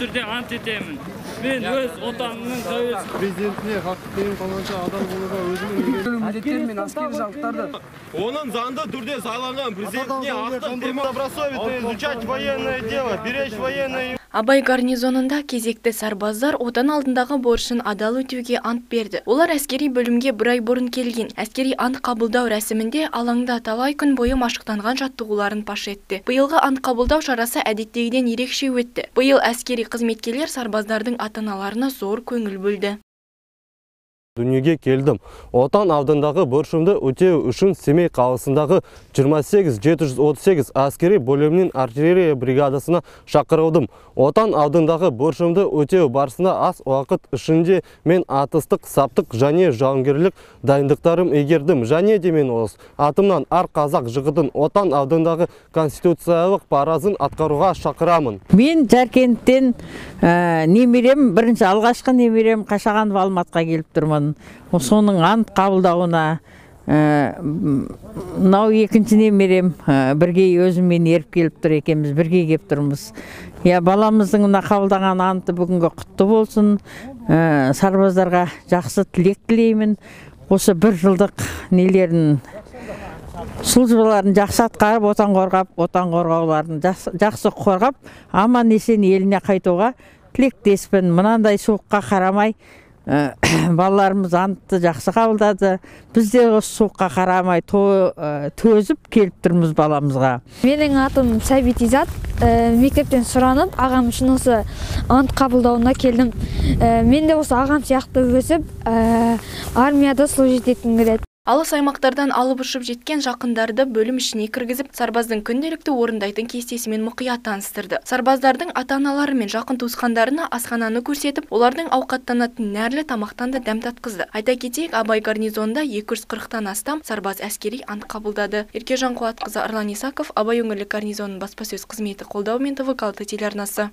түрдө ант этемин. Мен өз отанымдын президентине хакты тең калганча адал болууга өзүмдүн милдеттер мен аскери жалыктарды Onun zandı türde sağlanan президентине hакты тең добросовестно изучать военное дело, беречь военное. Абай гарнизонунда кезекте сарбаздар отан алдындагы борчун адал өтүүгө ант берди. Олар аскери бөлүмгө 1 ай бурун келген. Аскери ант кабылдоо расминде алаңда талай күн бою машыктанган жаттыгууларын паш этти. Быйылгы ант кабылдоо шарасы адеттегиден эрекше өттү. Быйыл аскери кызметкерлер сарбаздардын ата-аналарына зор көңүл бөлдү. Дүнүйгө келдим. Отан алдындагы борчумду өтөө үчүн Семей каласындагы 28738 аскери бөлүмүнүн артиллерия бригадасына чакырылдым. Отан алдындагы борчумду өтөө барысында аз убакыт ичинде мен атыстык, саптык жана жауынгерлик дайындыктарым эгердим. Жана демен оз атымдан ар казак жыгытын отан алдындагы конституциялык паразын аткарууга чакырамын. Мен Жаркенттен немерем, биринчи алгачкы немерем Кашаганов Алматка келип турмун. Сонун ант кабылдауына мынау экинчи немерем бирге өзүм менен эрип келип тур экенбиз, бирге кеп турмуз. Баламыздын мына кабылдаган анты бүгүнгө куттуу болсун. Сарбаздарга жакшы тилек тилеймин. Ошо 1 жылдык нелерин службаларын жакшы аткарып, отан коргооларын жакшы коргоп, аман эсен элине кайтууга тилектеспин. Мынандай суукка карамай балаларымыз антты жакшы кабылдады. Биз де ошо суукка карамай төзүп келип турмуз баламызга. Менин атым Сабит Изат. Мектептен суранып, агам үчүн осы ант кабылдауына келдим. Мен де осы агам сыяктуу өсүп, армияда служить этким келет. Алыс аймактардан алып учуп жеткен жакындарды бөлүм ишине киргизип, сарбаздын күнделиктүү орындайтын кестеси менен мукуят тааныстырды. Сарбаздардын ата-аналары менен жакын туускандарына асхананы көрсөтүп, олардын аукаттанатын нәрле тамактан да дәм таткызды. Айта кетейик, Абай гарнизонунда 240тан астам сарбаз аскери ант кабылдады. Эркежан Кубат кызы Арлан Исаков, Абай өңүрлүк гарнизонунун баспасөз кызмети колдоо менен ТВ Калты телеарнасы.